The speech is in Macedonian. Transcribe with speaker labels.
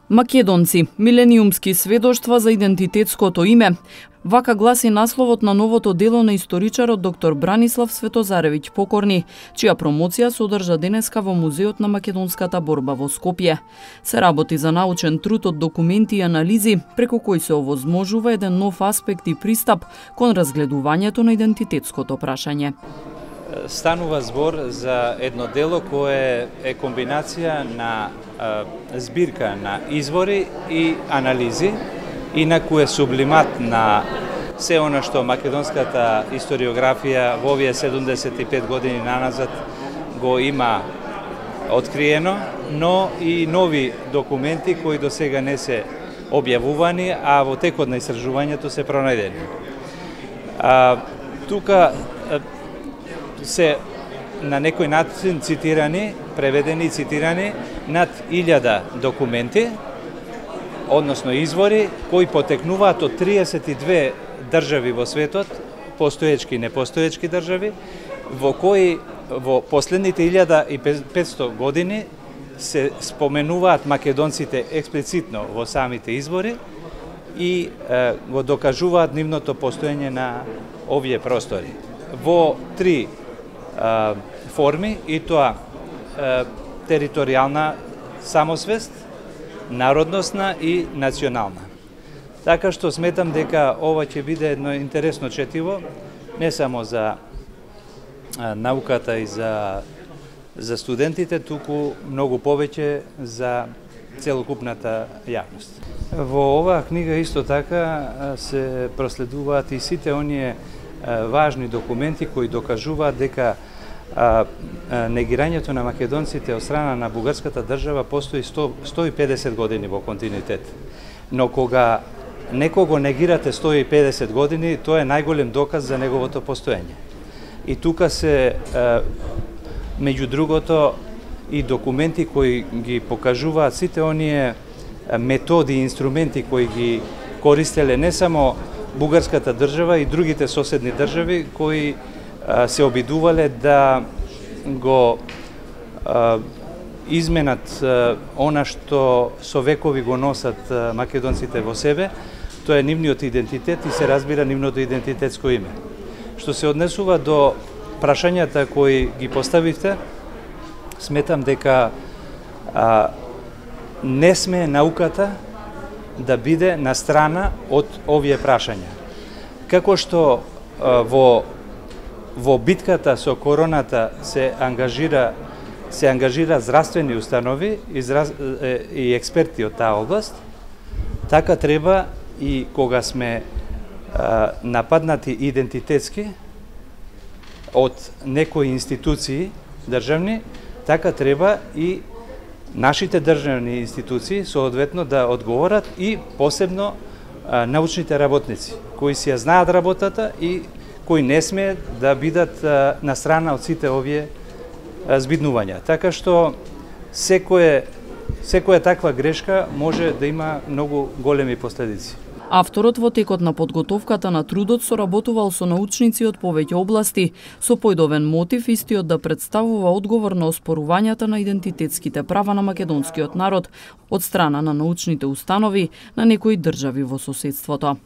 Speaker 1: Македонци, милениумски сведоштва за идентитетското име. Вака гласи насловот на новото дело на историчарот доктор Бранислав Светозаревиќ Покорни, чија промоција се одржа денеска во Музеот на македонската борба во Скопје. Се работи за научен труд од документи и анализи, преку кои се овозможува еден нов аспект и пристап кон разгледувањето на идентитетското прашање.
Speaker 2: Станува збор за едно дело кое е комбинација на збирка на извори и анализи, инаку е сублимат на се она што македонската историографија во овие 75 години наназад го има откриено, но и нови документи кои до сега не се објавувани, а во текот на истражувањето се пронајдени. Тука се на некој начин цитирани, преведени и цитирани над 1000 документи, односно извори, кои потекнуваат од 32 држави во светот, постоечки и непостоечки држави, во кои во последните 1500 години се споменуваат македонците експлицитно во самите извори и го докажуваат нивното постоење на овие простори. Во три форми, и тоа територијална самосвест, народносна и национална. Така што сметам дека ова ќе биде едно интересно четиво, не само за науката и за студентите, туку многу повеќе за целокупната јавност. Во оваа книга исто така се проследуваат и сите оние важни документи кои докажуваат дека негирањето на македонците од страна на бугарската држава постои 150 години во континуитет. Но кога некого негирате 150 години, тоа е најголем доказ за неговото постоење. И тука се, меѓу другото, и документи кои ги покажуваат сите оние методи и инструменти кои ги користеле не само бугарската држава и другите соседни држави кои се обидувале да го изменат она што со векови го носат македонците во себе, тоа е нивниот идентитет и се разбира нивното идентитетско име. Што се однесува до прашањата кои ги поставивте, сметам дека не сме науката да биде на страна од овие прашања. Како што во битката со короната се ангажира здравствени установи и експерти од таа област, така треба и кога сме нападнати идентитетски од некои институции државни, така треба и нашите државни институции соодветно да одговорат и посебно научните работници, кои си ја знаат работата и кои не смеат да бидат на страна од сите овие збиднувања. Така што секоја таква грешка може да има многу големи последици.
Speaker 1: Авторот во текот на подготовката на трудот соработувал со научници од повеќе области, со појдовен мотив истиот да представува одговор на оспорувањата на идентитетските права на македонскиот народ од страна на научните установи на некои држави во соседството.